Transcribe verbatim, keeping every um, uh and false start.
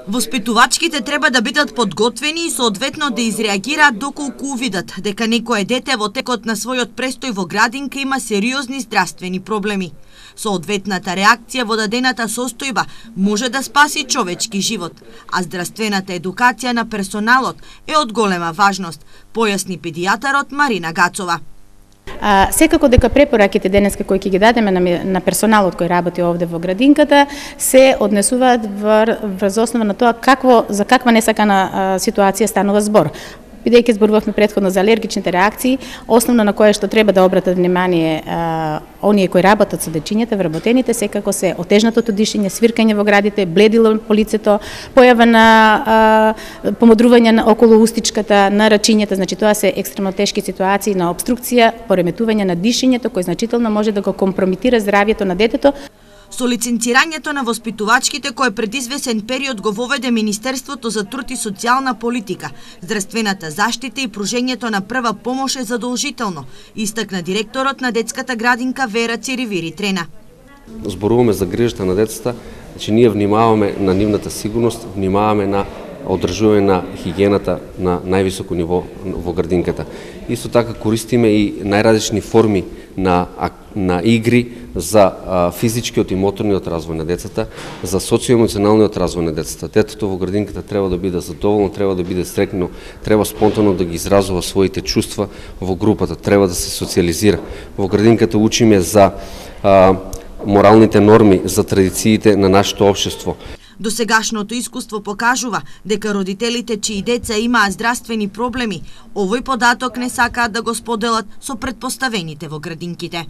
Воспитувачките треба да бидат подготвени и соодветно да изреагираат доколку увидат дека некое дете во текот на својот престој во градинка има сериозни здравствени проблеми. Соодветната реакција во дадената состојба може да спаси човечки живот, а здравствената едукација на персоналот е од голема важност, појасни педијатарот Марина Гацова. А, секако дека препораките денеска кои ќе ги дадеме на, на персоналот кој работи овде во градинката се однесуваат врз основа на тоа какво за каква несакана а, ситуација станува збор. Бидејќи зборувавме претходно за алергичните реакции, основно на кое што треба да обратат внимание а, оние кои работат со дечињата, вработените, секако се отежнатото дишење, свиркање во градите, бледило по лицето, појава на а, помодрување на околу устичката, на рачињата, значи тоа се екстремно тешки ситуации на обструкција, пореметување на дишењето кој значително може да го компромитира здравјето на детето. Со лиценцирањето на воспитувачките кој пред извесен период го воведе Министерството за труд и социјална политика, здравствената заштита и пружењето на прва помош е задолжително, истакна директорот на детската градинка Вера Циривири Трена. Зборуваме за грижата на децата, значи ние внимаваме на нивната сигурност, внимаваме на одржување на хигиената на највисоко ниво во градинката. Исто така користиме и најразлични форми на, на игри за а, физичкиот и моторниот развој на децата, за социоемоционалниот развој на децата. Детето во градинката треба да биде задоволно, треба да биде среќно, треба спонтано да ги изразува своите чувства во групата, треба да се социализира. Во градинката учиме за а, моралните норми, за традициите на нашето општество. Досегашното искуство покажува дека родителите чии деца имаат здравствени проблеми, овој податок не сакаат да го споделат со претпоставените во градинките.